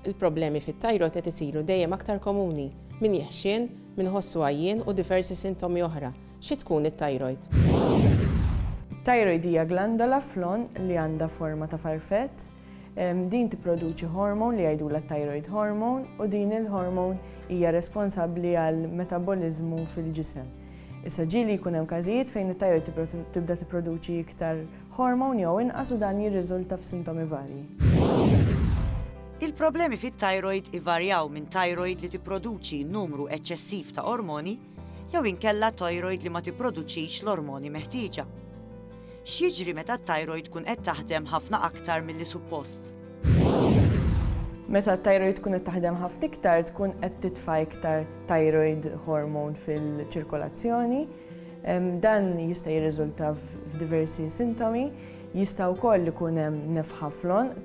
Il-problemi fit-thyroid qed isiru dejjem aktar komuni, min jeħxien, min iħossu għajjien u diversi sintomi oħra. Xi tkun it-thyroid? It-thyroid hija glandola fl-għonq li għandha forma ta' farfett. Din tipproduċi hormone li jgħidulha thyroid hormone u din il-hormone hija responsabbli għal metaboliżmu fil-ġisem. Issa ġieli jkun hemm każijiet fejn it-thyroid tibda tipproduċi iktar hormone jew inqas u dan jirriżulta f'sintomi varji. Il-problemi fit-thyroid ivarjaw minn thyroid li tipproduċi numru eċċessiv ta' ormoni jew inkella thyroid li ma tipproduċix l-ormoni meħtieġa. X'jiġri meta t-thyroid tkun qed taħdem ħafna aktar milli suppost? Meta t-thyroid tkun qed taħdem ħafna iktar tkun qed titfa' iktar thyroid hormone fil-ċirkolazzjoni. Dan jista' jirriżulta f'diversi sintomi. Jista' wkoll ikun hemm nefħa fl-għonq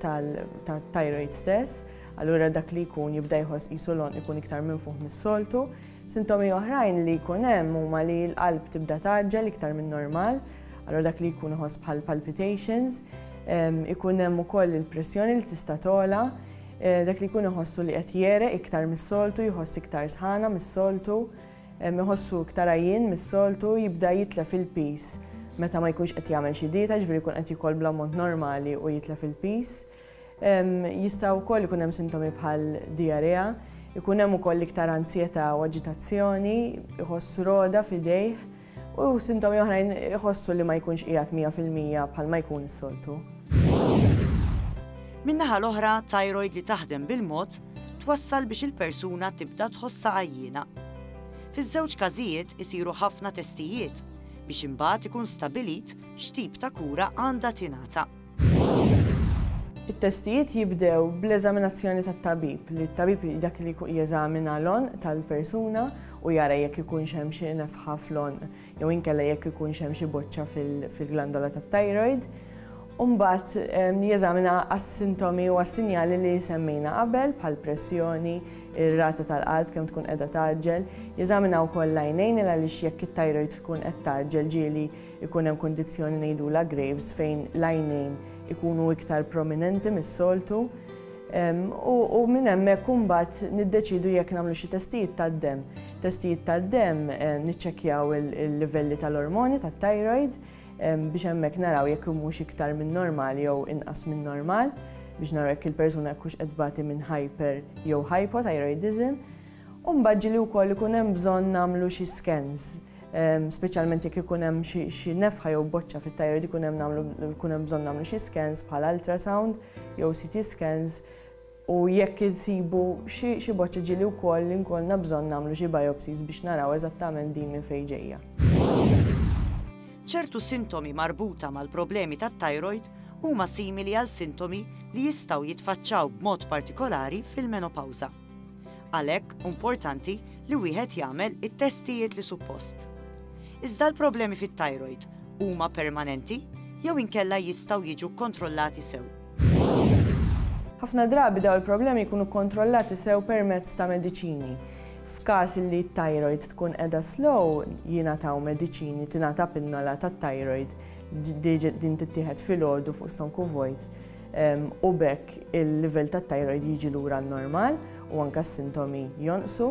tat-thyroid stess, allura dak li jkun jibda jħoss qisu l-għonq ikun iktar minfuħ mis-soltu. Sintomi oħrajn li jkun hemm huma li l-qalb tibda tgħaġġel iktar min-normal, allura dak li jkun iħoss bħal palpitations. Ikun hemm ukoll il-pressjoni li tista' togħla, dak li jkun iħossu li qed jegħreq iktar mis-soltu, jħoss iktar sħana mis-soltu. Iħossu iktar għajjien mis-soltu, jibda jitlef il-piż meta ma jkunx qed jagħmel xi dieta, jiġifieri jkun qed jiekol bl-ammont normali u jitlef il-piż. Jista' wkoll ikun hemm sintomi bħal dijarea, ikun hemm ukoll iktar anzjetà u aġitazzjoni, iħoss rogħda f'idejh u sintomi oħrajn iħossu li ma jkunx qiegħed 100% bħalma jkun is-soltu. Min-naħa l-oħra, thyroid li taħdem bil-mod twassal biex il-persuna tibda tħossha għajjiena. Fiż-żewġ każijiet isiru ħafna testijiet biex imbagħad ikun stabbilit x'tip ta' kura għandha tingħata. It-testijiet jibdew bl-eżaminazzjoni tat-tabib, li t-tabib dak li jeżamina l-għonq tal-persuna u jara jekk ikunx hemm xi nefħa fl-għonq jew inkella jekk ikunx hemm xi boċċa fil-glandola tat-thyroid. U mbagħad jeżamina għas-sintomi u għas-sinjali li semmejna qabel bħall-pressjoni, ir-rata tal-qalb kemm tkun qiegħda tgħaġġel. Jeżamina wkoll l-għajnejn il għaliex jekk it-thyroid tkun qed tgħaġġel ġieli jkun hemm kundizzjoni ngħidulha Graves fejn l-għajnejn ikunu iktar prominenti mis-soltu. U minn hemmhekk imbagħad niddeċiedu jekk nagħmlu xi testijiet tad-demm. Testijiet tad-demm niċċekkjaw il-livelli tal-ormoni tat-thyroid biex hemmhekk naraw jekk humiex iktar minn normali jew inqas minn normal biex naraw jekk il-persuna jekk hux qed tbati minn hyper jew hypothyroidism. U mbagħad ġieli wkoll ikun hemm bżonn nagħmlu xi scans Speċjalment jekk ikun hemm xi nefħa jew boċċa fit-thyroid ikun hemm nagħmlu ikun hemm bżonn nagħmlu xi scans bħal ultrasound jew CT scans u jekk insibu xi boċċa ġieli wkoll inkollna bżonn nagħmlu xi biopsies biex naraw eżattament din minn fejn ġejja. Ċertu sintomi marbuta mal-problemi tat-thyroid huma simili għal sintomi li jistgħu jitfaċċaw b'mod partikolari fil-menopawża. Għalhekk importanti li wieħed jagħmel it-testijiet li suppost. Iżda l-problemi fit-thyroid huma permanenti jew inkella jistgħu jiġu kkontrollati sew? Ħafna drabi dawn il-problemi jkunu kkontrollati sew permezz ta' mediċini. F'każ li t-thyroid tkun qiegħda slow, jingħataw mediċini, tingħata pinnola tat-thyroid din tittieħed filgħodu fuq stonku vojt u b'hekk il-livell tat-thyroid jiġi lura għan-normal u anke s-sintomi jonqsu.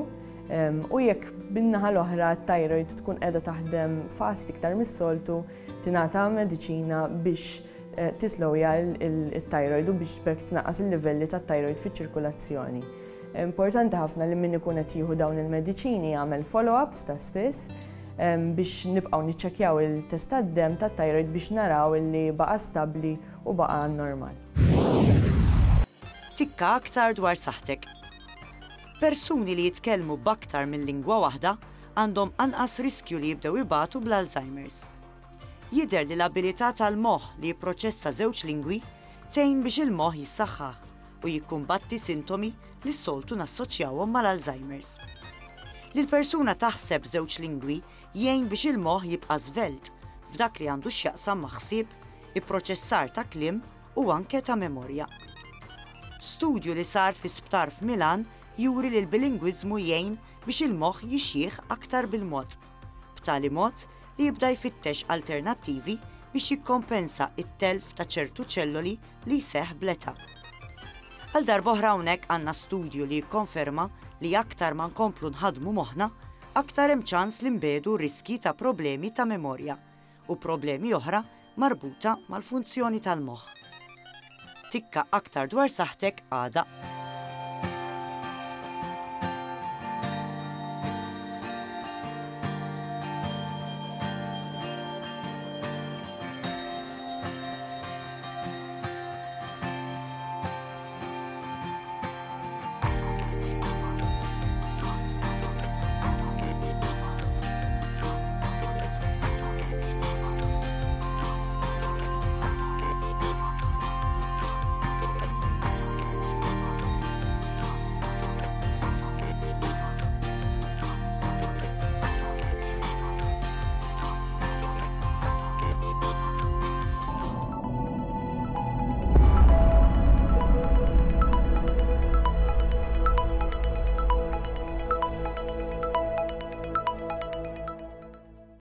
U jekk bin-naħa l-oħra t-thyroid tkun qiegħda taħdem fast iktar mis-soltu, tingħata mediċina biex eh, tislowja il-thyroid u biex b'hekk tnaqqas il-livelli tat-thyroid fiċ-ċirkulazzjoni. Importanti ħafna li min ikun qed jieħu dawn il-mediċini jagħmel follow-ups ta' spiss biex nibqgħu niċċekkjaw il-test tad-demm tat-thyroid biex naraw li baqa' stabbli u baqa' għan-normal. Tikka aktar dwar saħħtek. Persuni li jitkellmu b'aktar minn lingwa waħda għandhom anqas riskju li jibdew ibatu bl-Alzheimer's. Jidher li l-abilità tal-moħħ li jipproċessa żewġ lingwi tgħin biex il-moħħ jissaħħaħ u jikkumbatti sintomi li s-soltu nassoċjawhom mal-Alzheimer's. Li l-persuna taħseb b'żewġ lingwi jgħin biex il-moħħ jibqa' żvelt f'dak li għandu x'jaqsam ma' ħsieb, ipproċessar ta' kliem u anke ta' memorja. Studju li sar fi sptar f'Milan juri li l-bilingwiżmu jgħin biex il-moħħ jixjieħ aktar bil-mod, b'tali mod li jibda jfittex alternattivi biex jikkompensa t-telf ta' ċertu ċelloli li jseħħ bl-età. Għal darb'oħra hawnhekk għandna studju li jikkonferma li aktar ma nkomplu nħaddmu moħħna, aktar hemm ċans li nbiegħdu riskji ta' problemi ta' memorja u problemi oħra marbuta mal-funzjoni tal-moħħ. Tikka aktar dwar saħħtek għada.